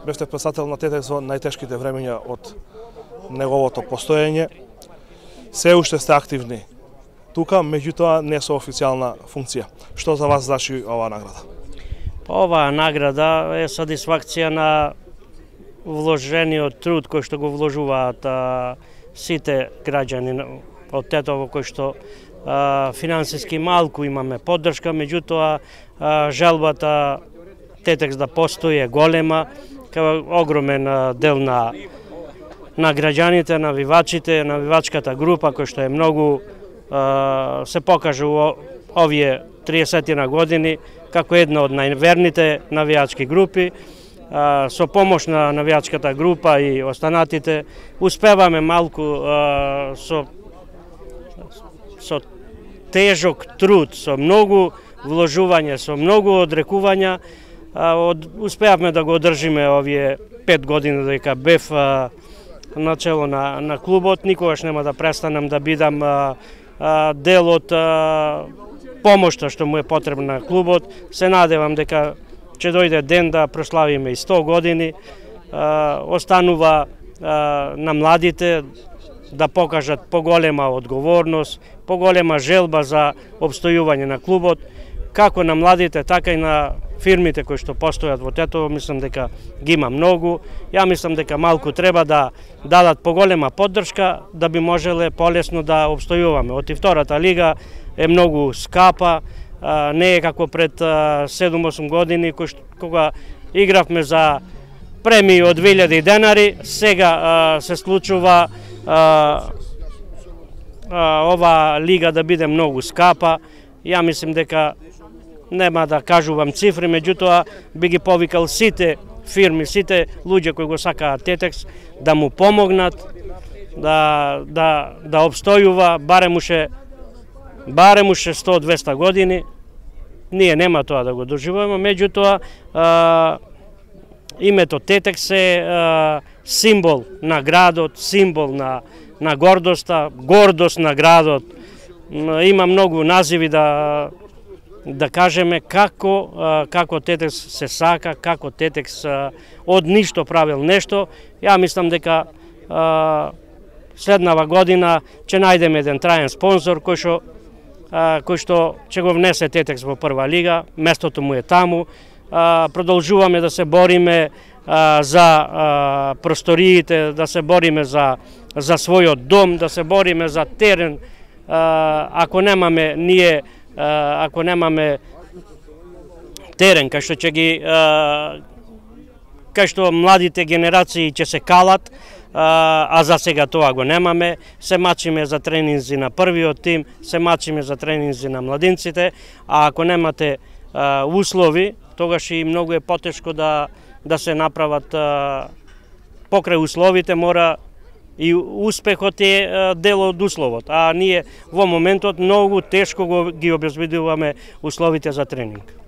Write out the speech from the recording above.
бевте председател на ТТЕКС во најтешките времења од неговото постоење. Се уште сте активни тука, меѓутоа не со официјална функција. Што за вас значи оваа награда? Оваа награда е сатисфакција на вложениот труд кој што го вложуваат сите граѓани од Тетово, кој што финансиски малку имаме поддршка, меѓутоа желбата ТТЕКС да постои е голема, кај огромен дел на граѓаните, навивачите, навивачката група кој што е многу се покажа во овие 30 години како една од најверните навијачки групи. Со помош на навијачката група и останатите успеваме малку со тежок труд, со многу вложување, со многу одрекувања, успеавме да го одржиме овие 5 години дека бев начело на клубот. Никогаш нема да престанам да бидам дел од помошта што му е потребна на клубот. Се надевам дека ќе дојде ден да прославиме и 100 години. Останува на младите да покажат поголема одговорност, поголема желба за обстојување на клубот, како на младите, така и на фирмите кои што постојат во Тетово. Мислам дека ги има многу. Ја мислам дека малку треба да дадат поголема поддршка да би можеле полесно да обстојуваме. Оти втората лига е многу скапа, не е како пред 7-8 години кога игравме за премии од 2000 денари. Сега се случува ова лига да биде многу скапа. Ја мислим дека нема да кажувам цифри, меѓутоа би ги повикал сите фирми, сите луѓе кои го сакаат ТТЕКС да му помогнат да обстојува барем уше 100-200 години. Ние нема тоа да го доживуваме, меѓутоа името ТТЕКС е символ на градот, символ на гордоста, гордост на градот. Има многу називи да кажеме како ТТЕКС се сака, како ТТЕКС од ништо правил нешто. Ја мислам дека следнава година ќе најдеме еден траен спонзор кој што ќе го внесе ТТЕКС во прва лига, местото му е таму. Продолжуваме да се бориме за просториите, да се бориме за својот дом, да се бориме за терен. Ако немаме терен кај што кај што младите генерации ќе се калат, а за сега тоа го немаме. Се мачиме за тренинзи на првиот тим, се мачиме за тренинзи на младинците, а ако немате услови, тогаш и многу е потешко да се направат покрај условите. Мора и успехот е дел од условот, а ние во моментот многу тешко ги обезбедуваме условите за тренинг.